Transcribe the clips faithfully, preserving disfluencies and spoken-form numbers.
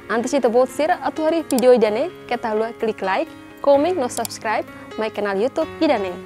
Antes ita-boot sira atu haree vídeo ida-ne'e, keta haluha klik like, komen no subscribe mai kanál YouTube ida-ne'e.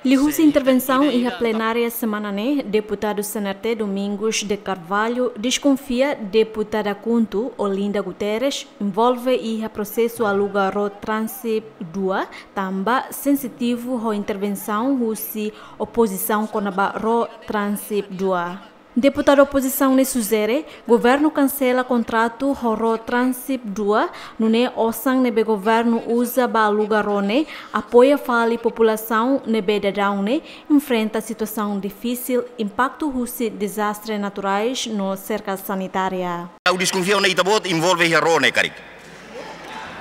Liuhusi intervensaun iha plenária semana ne'e, deputadu C N R T Domingos de Carvalho deskonfia deputada KHUNTO Olinda Guterres envolve iha prosesu aluga ró Transip dua, tanba sensitivu ho intervensaun husi opozisaun kona-ba ró Transip dua. Deputadu opozisaun ne'e sujere governu kansela kontratu ho ró Transip dua, nune'e osan ne'ebé governu uza ba aluga ró ne'e apoia fali populasaun ne'ebé daudaun ne'e enfrenta situasaun difisil, impaktu husi dezastre naturais no serka sanitária. Ha'u deskonfia ona ita-boot envolve iha ró ne'e karik.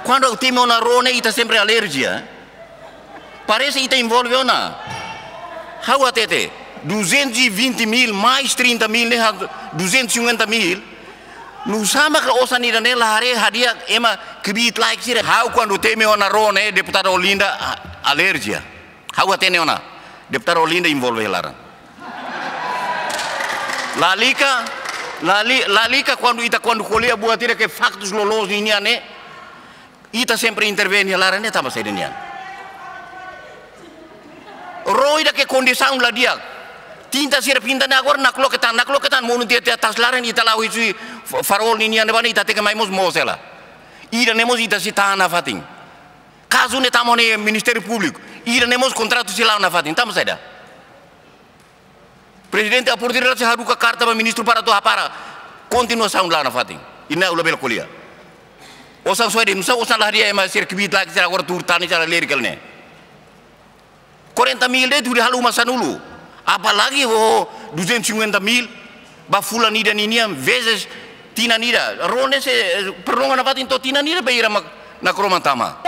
Kuandu ha'u temi ona ró ne'e, ita sempre alerjia. Parese ita envolve ona. Ha'u hatete, duzentos e vinte mil mais trinta mil ne'e, ha-, duzentos e cinquenta mil. Nusá mak osan ida-ne'e la haree hadi'a ema kbiit-laek sira. Ha'u kuandu temi ona ró ne'e, deputada Olinda a-, alerjia. Ha'u hatene ona, deputada Olinda envolve iha laran. Lalika, lali-, lalika kuandu ita, kuandu ko'alia buat ida ke faktus loloos ninian ne'e, ita sempre intervene iha laran ne'e tanba saida nian. Ró ida ke kondisaun la di'ak. Tinta sira pinta ne'e agora nakloke tan, nakloke tan, monu tiha, tiha atas laran, ita la'o husi fa-, farol ninian ne'ebá ne'e, ita hateke mai mós moos hela. Ida-ne'e mós ita sei tahan nafatin. Kazu ne'e tama ona iha Ministériu Públiku. Ida-ne'e mós kontratu sei la'o nafatin. Tanba saida? Prezidente Apoio Direto sei haruka karta ba ministru para atu hapara kontinuasaun la'o nafatin. I ne'e ha'u labele ko'alia. Osan soe de'it, nusá osan la haree ema sira kbiit-laek sira agora tuur tan sira leri kal ne'e. Quarenta mil de'it hodi halo uma sanulu. Apalagi ho duzentos e cinquenta mil ba fulan ida ninian vezes tinan ida. Ró ne'e sei, eh, prolonga nafatin to'o tinan ida, bainhira mak nakroman tama.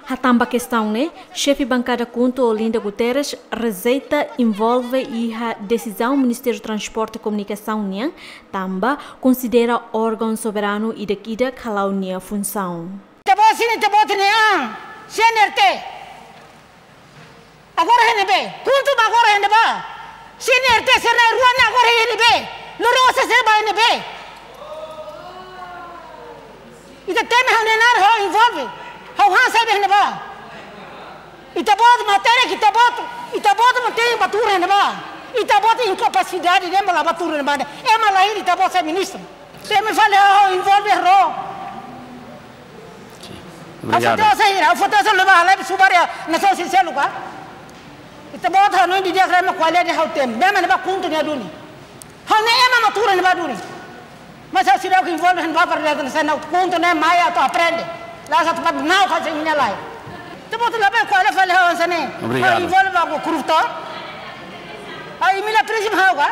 Hatán ba kestaun ne'e, xefe bankada KHUNTO Olinda Guterres rejeita envolve iha desizaun Ministériu Transporte Komunikasaun nian, tanba konsidera órgaun soberanu ida-idak hala'o nia funsaun. Ita-boot sira, ita-boot ne'e, ah, C N R T. Agora iha ne'ebé? KHUNTO mak agora iha ne'ebá? C N R T sira na'in-rua ne'e agora iha ne'ebé? Loroloron sira ba iha ne'ebé? Ita temi ha'u-nia naran ha'u envolve. Ha'u han saida iha ne'ebá? Ita-boot matéria ke ita-boot, ita-boot mak tenke bá tuur iha ne'ebá. Ita-boot inkapasidade de'it mak la bá tuur iha ne'ebá. Ema la hili ita-boot sai ministru. Temi fali ha'u envolve ró. Obrigado. Ha'u foti osan hira, ha'u foti osan leba halai subar iha nasaun sira seluk ka. Ita-boot hanoin didi'ak rema kualidade ha'u temi. Bema ne'ebá KHUNTO nia duni. Ha'u ne'e ema mak tuur iha ne'ebá duni. Mas ha'u seidauk envolve iha ne'ebá para data na sana KHUNTO ne'e mai atu aprende. La sa tempat nau ka sing nia lai. Ita-boot labele ko'alia fali ha'u hanesan ne'e. Obrigado. Ha'u envolve ba korruptor. Ha'u Emília Pires mak ha'u ka.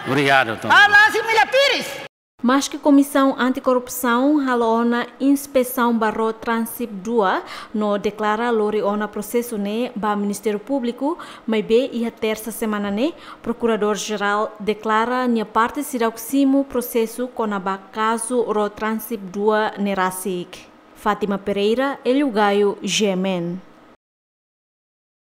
Obrigado, Tom. Ha'u la hanesan Emília Pires. Maske Komisaun Anti-Korrupsaun halo ona inspesaun ba ró Transip dua no deklara lori ona prosesu ne'e ba Ministériu Públiku, maibé iha tersa semana ne'e, Prokuradór-Jerál deklara nia parte seidauk simu prosesu kona-ba kazu ró Transip dua ne'e rasik. Fátima Pereira, Hélio Gaio, G M N.